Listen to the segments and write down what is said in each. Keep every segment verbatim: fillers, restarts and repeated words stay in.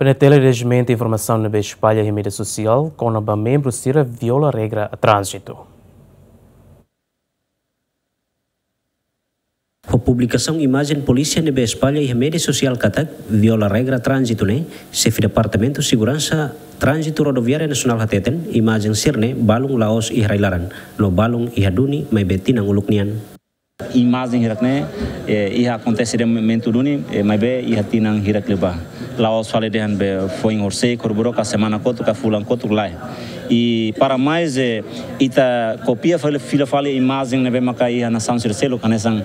PNTL rejimentu informasaun ne'ebé espalla iha média sosiál kona-ba membru sira viola regra tránzitu. Ho publikasaun imajen polísia ne'ebé espalla iha média sosiál katak viola regra tránzitu ne'e, Xefe Departamentu Seguransa Tránzitu Rodoviária Nasionál hateten, imajen sira-ne'e balun la'ós iha rai-laran, no balun iha duni maibé tinan uluk nian. Imajen hirak-ne'e, eh, iha akontese iha momentu duni, eh, maibé iha tinan hirak liubá. La'ós fali dehan be foin horisehik, horibainrua ka semana kotuk ka fulan kotuk, lae. I para mais, eh, ita kopia fali, fila fali imajen ne'ebé maka iha nasaun sira seluk, hanesan,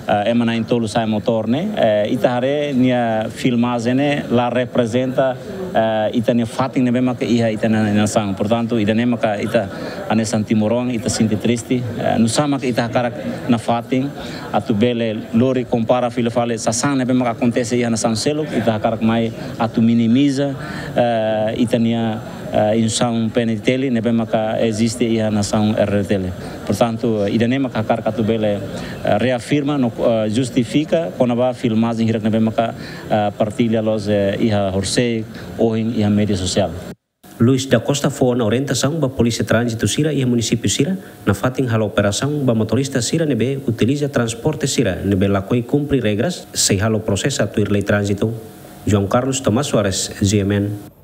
eh, ema na'in-tolu sa'e motór ne'e, eh, ita haree nia filmajen ne'e la reprezenta, eh, ita-nia fatin ne'ebé maka iha ita-nia nasaun. Portantu, ida-ne'e maka ita hanesan timoroan, ita sente triste, eh, nusá maka ita hakarak nafatin atu bele lori kompara fila fali sasán ne'ebé maka akontese iha nasaun seluk, ita hakarak mai atu minimiza, eh, ita-nia, eh, instituisaun PNTL ne'ebé maka eziste iha nasaun RDTL. Portantu, ida-ne'e maka hakarak atu bele, eh, reafirma no, eh, justifika kona-ba filmajen hirak ne'ebé maka, eh, partilla loos, eh, iha horisehik, ohin iha média sosiál. Luis da Costa fó ona orientasaun ba polísia tránzitu sira iha munisípiu sira, nafatin halo operasaun ba motorista sira ne'ebé utiliza transporte sira ne'ebé lakohi kumpre regras, sei halo prosesu tuir lei tránzitu. João Carlos Tomás Soares, GMN.